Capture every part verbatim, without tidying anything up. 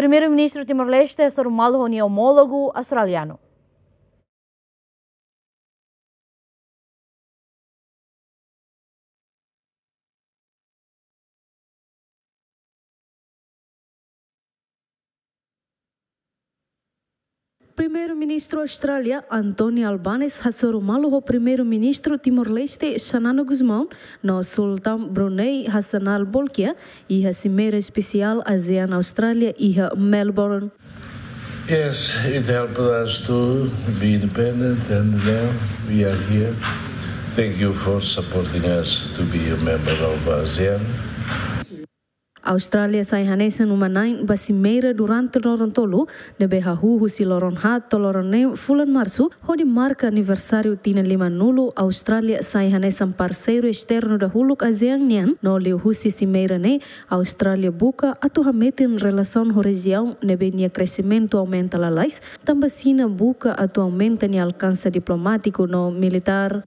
Primeiru-Ministru Timor-Leste hasoru malu ho nia omólogu australianu. Primeiru-Ministru Austrália, Anthony Albanese, hasoru malu ho Primeiru-Ministru Timor-Leste, Xanana Gusmão, no Sultan Brunei, Hassanal Bolkiah, iha simeira espesiál ASEAN Austrália iha Melbourne. Yes, it helped us to be independent, and now we are here. Thank you for supporting us to be a member of ASEAN. Austrália sai hanesan uma-na'in ba simeira durante loron tolu, ne'ebé hahú husi loron haat to'o loron neen fulan Marsu, hodi marka aniversáriu tinan limanulu Austrália sai hanesan parseiru esternu dahuluk ASEAN nian, no liuhusi simeira ne'e, Austrália buka atu hametin relasaun ho rejiaun ne'ebé nia kresimentu aumenta lalais, tanba Xina buka atu aumenta nia alkanse diplomátiku no militár.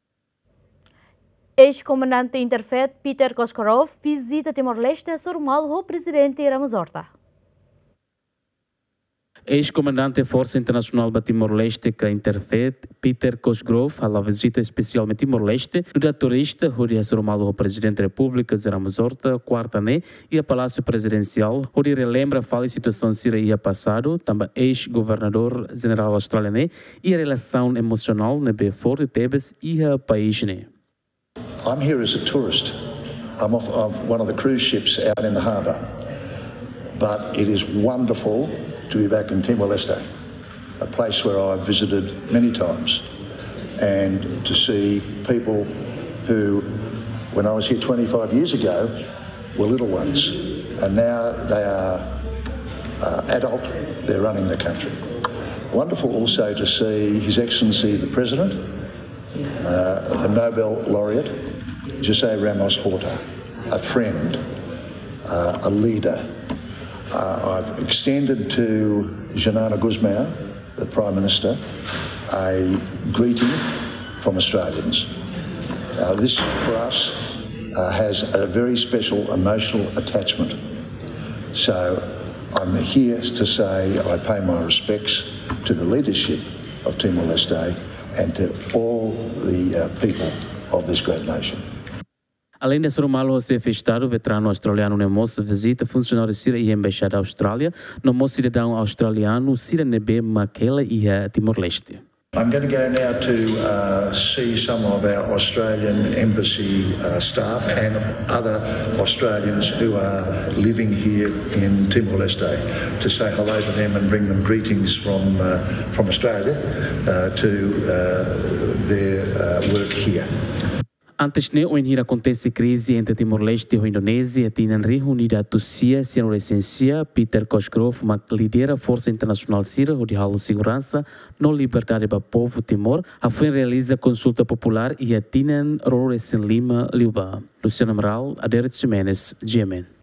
Eis-komandante Interfet, Peter Cosgrove, vizita Timor-Leste, hasoru malu ho Prezidente Ramos Horta. Eis-komandante Forsa Internasionál ba Timor-Leste ka Interfet, Peter Cosgrove, hala'o vizita espesiál mai Timor-Leste, nu'udar turista, hodi hasoru malu ho Prezidente Repúblika, José Ramos Horta, kuarta ne'e, iha Palásiu Prezidensiál, hodi relembra fali situasaun sira iha pasadu, tanba eis-governadór jenerál Austrália ne'e, iha relasaun emosionál ne'ebé forte tebes iha país ne'e. I'm here as a tourist. I'm off, I'm one of the cruise ships out in the harbour. But it is wonderful to be back in Timor-Leste, a place where I've visited many times, and to see people who, when I was here twenty-five years ago, were little ones, and now they are, uh, adult, they're running the country. Wonderful also to see His Excellency the President, uh, the Nobel laureate, José Ramos Horta, a friend, uh, a leader. Uh, I've extended to Xanana Gusmão, the Prime Minister, a greeting from Australians. Uh, this, for us, uh, has a very special emotional attachment. So I'm here to say I pay my respects to the leadership of Timor-Leste and to all the, uh, people of this great nation. Aleinde hasoru malu ho Xefe Estadu, veteranu australianu ne'e mós vizita funsionáriu sira iha Embaixada Austrália, no mós sidadaun australianu sira ne'ebé mak hela iha Timor-Leste. I'm gonna go now to, uh, see some of our Australian embassy, uh, staff and other Australians who are living here in Timor-Leste, to say hello to them and bring them greetings from, uh, from Australia, uh, to, uh, their, uh, work here. Antes ne'e, ohin hira akontese krize entre Timor-Leste ho Indonézia, tinan rihun ida atus sia sianulu-resin-sia, Peter Cosgrove mak lidera forsa internasionál sira hodi halo seguransa no liberdade ba povu Timor, hafoin realiza konsulta populár iha tinan ruanulu-resin-lima liubá. Luciano Amaral, Adérito Ximenes, G M N.